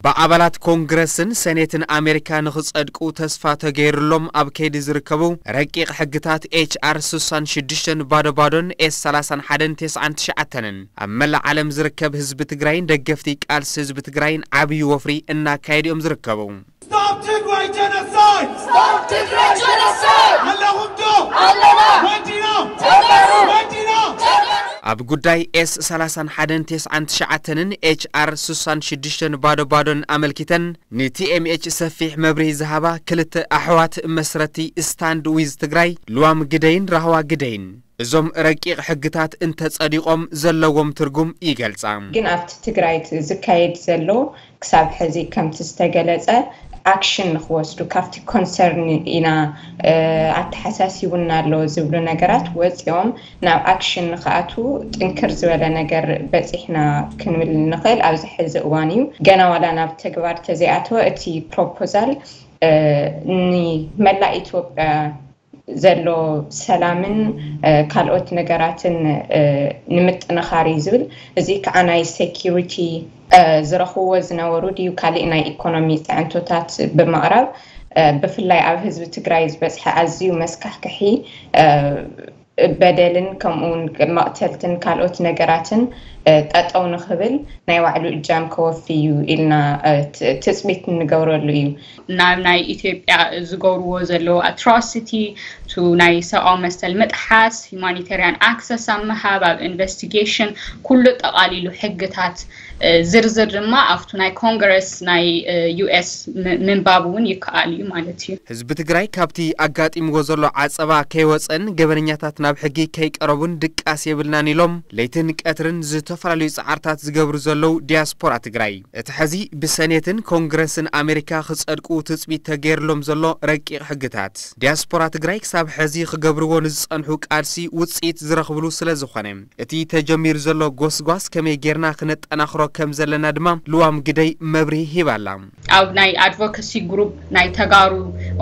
ብኣባላት ኮንግረስን ሰኔትን ኣሜሪካ ንኽጸድቁ ተስፋ ተገይሩሎም ኣብ ከይዲ ዝርከቡ ረቂቕ ሕግታት ኤች ኣር ስሳን ሽዱሽተን ባዶ ባዶን ኤስ ሰላሳን ሓደን ተስዓን ትሽዓተንን ኣብ መላእ ዓለም ዝርከብ ህዝቢ ትግራይን ደገፍቲ ቃልሲ ህዝቢ ትግራይን ዓብዪ ወፍሪ እናካየዱ እዮም ዝርከቡ። Stop Tigray genocide! Stop Tigray genocide! ኣለኹም ዶ? ኣለና! ወዲና! ተጋሩ! ወዲና! ተጋሩ! ኣብ ጉዳይ ኤስ ሰላሳን ሓደን ተስዓን ትሽዓተንን ኤች ኣር ስሳን ሽዱሽተን ባዶ ባዶን ኣመልኪተን ን ቲ ኤም ኤች ሰፊሕ መብርሂ ዝሃባ ክልተ ኣሕዋት መስረቲ ስታንድ ዊዝ ትግራይ ልዋም ግደይን ራህዋ ግደይን እዞም ረቂቕ ሕግታት እንተጸዲቖም ዘለዎም ትርጉም ይገልጻ። ግን ኣብቲ ትግራይ ዝካየድ ዘሎ ክሳብ ሕዚ ከምቲ ዝተገለጸ ኣክሽን ንክወስዱ ካብቲ ኮንሰርን ኢና ኣተሓሳሲቡና ኣሎ ዝብሉ ነገራት ወፂኦም ናብ ኣክሽን ንክኣትዉ ጥንክር ዝበለ ነገር በፂሕና ክንብል ንኽእል ኣብዚ ሕዚ እዋን እዩ። ገና ዋላ ናብ ተግባር ተዘይኣተወ እቲ ፕሮፖዛል ንመላእ ኢትዮጵያ ዘሎ ሰላምን ካልኦት ነገራትን ንምጥንኻር እዩ ዝብል። እዚ ከዓ ናይ ሴኪሪቲ ዝረኽብዎ ዝነበሩ ድዩ ካሊእ ናይ ኢኮኖሚ ፅዕንቶታት ብምቕራብ ብፍላይ ኣብ ህዝቢ ትግራይ ዝበፅሐ ኣዝዩ መስካሕክሒ በደልን ከምኡ እውን መቕተልትን ካልኦት ነገራትን ጠጠው ንኽብል ናይ ባዕሉ እጃም ከወፊ እዩ ኢልና ትፅቢት እንገብረሉ እዩ። ናብ ናይ ኢትዮጵያ ዝገብርዎ ዘለዉ ኣትሮሲቲ ቱ ናይ ሰብኣዊ መሰል ምጥሓስ፣ ሁማኒታሪያን ኣክሰስ ኣብ ምሃብ፣ ኣብ ኢንቨስቲጌሽን ኩሉ ጠቓሊሉ ሕግታት ዝርዝር ድማ ኣብቱ ናይ ኮንግረስ ናይ ዩ ኤስ ምንባብ እውን ይከኣል እዩ ማለት እዩ። ህዝቢ ትግራይ ካብቲ ኣጋጢምዎ ዘሎ ዓፀባ ከይወፀን ገበነኛታት ናብ ሕጊ ከይቀረቡን ድቃስ የብልናን ኢሎም ለይትን ቀትርን ዝተፈላለዩ ፃዕርታት ዝገብሩ ዘለዉ ዲያስፖራ ትግራይ እቲ ሕዚ ብሰኔትን ኮንግረስን ኣሜሪካ ክፀድቁ ትፅቢት ተገይርሎም ዘሎ ረቂቕ ሕግታት ዲያስፖራ ትግራይ ክሳብ ሕዚ ክገብርዎ ንዝፀንሑ ቃልሲ ውፅኢት ዝረኽብሉ ስለ ዝኾነ እቲ ተጀሚሩ ዘሎ ጎስጓስ ከመይ ጌርና ክነጠናኽሮ ከም ዘለና ድማ ልዋም ግደይ መብርሂ ሂባላ። ኣብ ናይ ኣድቮካሲ ግሩፕ ናይ ተጋሩ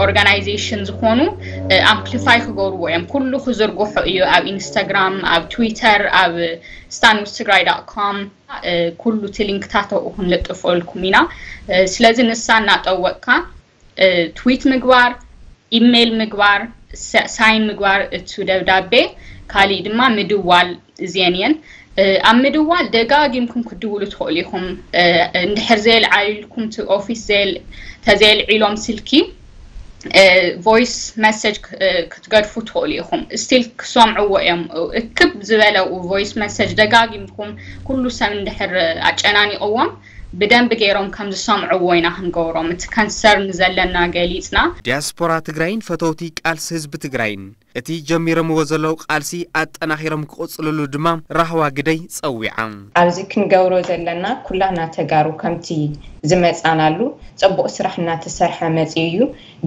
ኦርጋናይዜሽን ዝኾኑ ኣምፕሊፋይ ክገብርዎ እዮም። ኩሉ ክዝርግሖ እዩ ኣብ ኢንስታግራም፣ ኣብ ትዊተር፣ ኣብ ስታንድ ዊዝ ትግራይ ዳት ኮም ኩሉ እቲ ሊንክታት ኣብኡ ክንልጥፈልኩም ኢና። ስለዚ ንሳ እናጠወቅካ ትዊት ምግባር፣ ኢሜይል ምግባር፣ ሳይን ምግባር እቱ ደብዳቤ፣ ካሊእ ድማ ምድዋል እዚአን እየን። ኣብ ምድዋል ደጋጊምኩም ክትድውሉ ትኽእሉ ኢኹም። እንድሕር ዘየልዓልልኩም እቲ ኦፊስ ተዘየልዒሎም ስልኪ ቮይስ መሰጅ ክትገድፉ ትኽእሉ ኢኹም። ስቲል ክሰምዕዎ እዮም። እክብ ዝበለ ቮይስ መሰጅ ደጋጊምኩም ኩሉ ሰብ እንድሕር ኣጨናኒቕዎም ብደንቢ ገይሮም ከም ዝሰምዕዎ ኢና ክንገብሮም እቲ ከንሰርን ዘለና ገሊፅና። ዲያስፖራ ትግራይን ፈተውቲ ቃልሲ ህዝቢ ትግራይን እቲ ጀሚሮምዎ ዘለዉ ቃልሲ ኣጠናኺሮም ክቕፅልሉ ድማ ራህዋ ግደይ ፀዊዓ። ኣብዚ ክንገብሮ ዘለና ኩላና ተጋሩ ከምቲ ዝመፃናሉ ፅቡቕ ስራሕ እናተሰርሐ መፂኡ እዩ።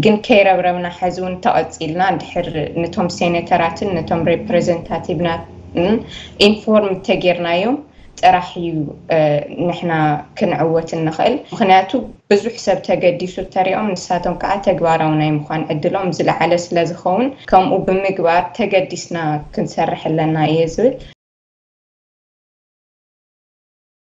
ግን ከይረብረብና ሕዚ እውን ተቐፂልና እንድሕር ነቶም ሴኔተራትን ነቶም ሬፕሬዘንታቲቭናትን ኢንፎርም ተጌርናዮም ጥራሕ እዩ ንሕና ክንዕወት እንኽእል። ምኽንያቱ ብዙሕ ሰብ ተገዲሱ ተሪኦም ንሳቶም ከዓ ተግባራዊ ናይ ምዃን ዕድሎም ዝለዓለ ስለ ዝኸውን ከምኡ ብምግባር ተገዲስና ክንሰርሕ ኣለና እየ ዝብል።